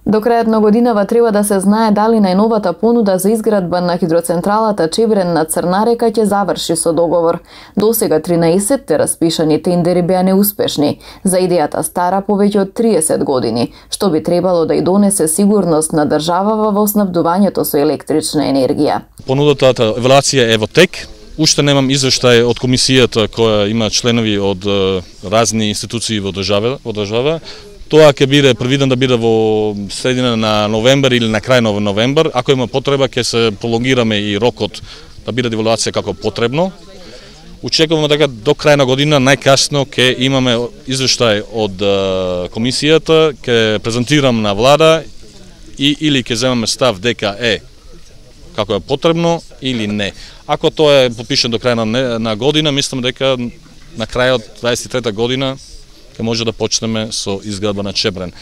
До крајот на годинава треба да се знае дали најновата понуда за изградба на хидроцентралата Чебрен на Црна река ќе заврши со договор. Досега 13 распишани тендери беа неуспешни, за идејата стара повеќе од 30 години, што би требало да и донесе сигурност на државава во снабдувањето со електрична енергија. Понудата евалуација е во тек. Уште немам извештај од комисијата која има членови од разни институции во држава. Тоа ќе биде предвидено да биде во средина на новембар или на крај на новембар. Ако има потреба, ќе се пролонгираме и рокот да биде евалуација како потребно. Очекуваме дека до крај на година најкасно ќе имаме извештај од комисијата, ќе презентирам на влада или ќе земаме став дека како е потребно или не. Ако тоа е подпишено до крај на година, мислам дека на крајот 23-та година ќе може да почнеме со изградба на Чебрен.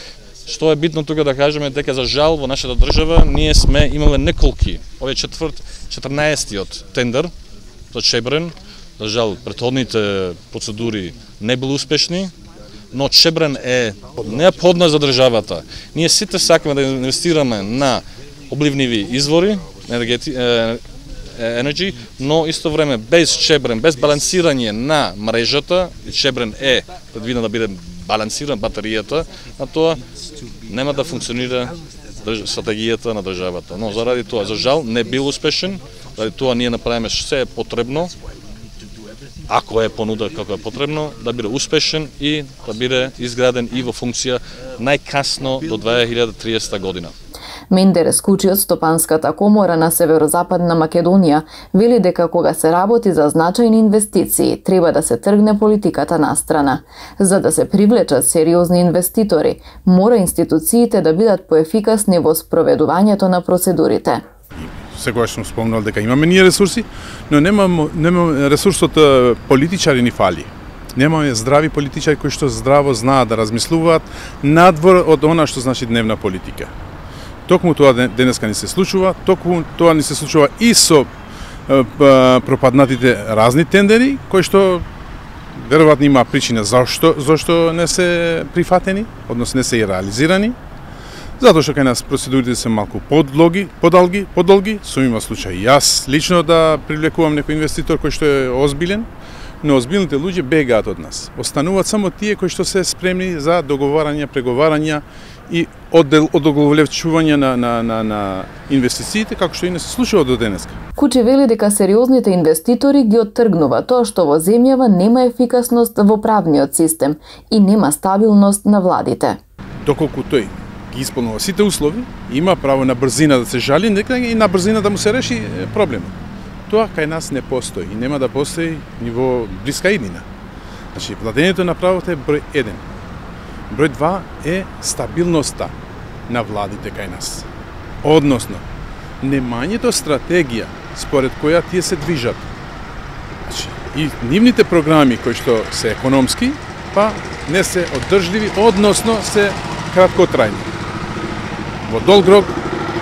Што е битно тука да кажеме дека за жал во нашата држава ние сме имале неколки, овој 14-тиот тендер за Чебрен. За жал претходните процедури не биле успешни, но Чебрен е неопходна за државата. Ние сите сакаме да инвестираме на обливниви извори, енерги, но исто време без Чебрен, без балансирање на мрежата, Чебрен е предвидено да биде балансиран батеријата, а тоа нема да функционира стратегијата на државата. Но заради тоа, за жал, не бил успешен, заради тоа ние направиме се е потребно, ако е понуда како е потребно, да биде успешен и да биде изграден и во функција најкасно до 2030 година. Мендер Скучи од Стопанската комора на Северозападна Македонија вели дека кога се работи за значајни инвестиции, треба да се тргне политиката настрана. За да се привлечат сериозни инвеститори, мора институциите да бидат поефикасни во спроведувањето на процедурите. Секогаш сум спомнал дека имаме ние ресурси, но немаме ресурсот политичари ни фали. Немаме здрави политичари кои што здраво знаат да размислуваат надвор од она што значи дневна политика. Токму тоа денеска ни се случува, токму тоа ни се случува и со пропаднатите разни тендери, кои што веројатно има причина зашто не се прифатени, односно не се и реализирани. Затоа што кај нас процедурите се малку подолги, сум има случај јас лично да привлекувам некој инвеститор кој што е озбилен, но озбилните луѓе бегаат од нас. Остануваат само тие кои што се спремни за договарања, преговарања и одоговлечување на инвестициите, како што и не се случува до денеска. Кучи вели дека сериозните инвеститори ги оттргнува тоа што во земјава нема ефикасност во правниот систем и нема стабилност на владите. Доколку тој ги исполнува сите услови, има право на брзина да се жали, нека и на брзина да му се реши проблемот. Тоа кај нас не постои и нема да постои ни во блиска иднина. Значи, владењето на правото е број 1. Број 2 е стабилноста на владите кај нас. Односно, немањето стратегија според која тие се движат. Значи, и нивните програми кои што се економски, па не се оддржливи, односно се краткотрајни. Во долг рок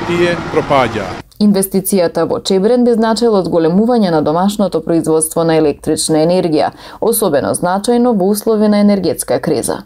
тие пропаѓаат. Инвестицијата во Чебрен би значила одголемување на домашното производство на електрична енергија, особено значајно во услови на енергетска криза.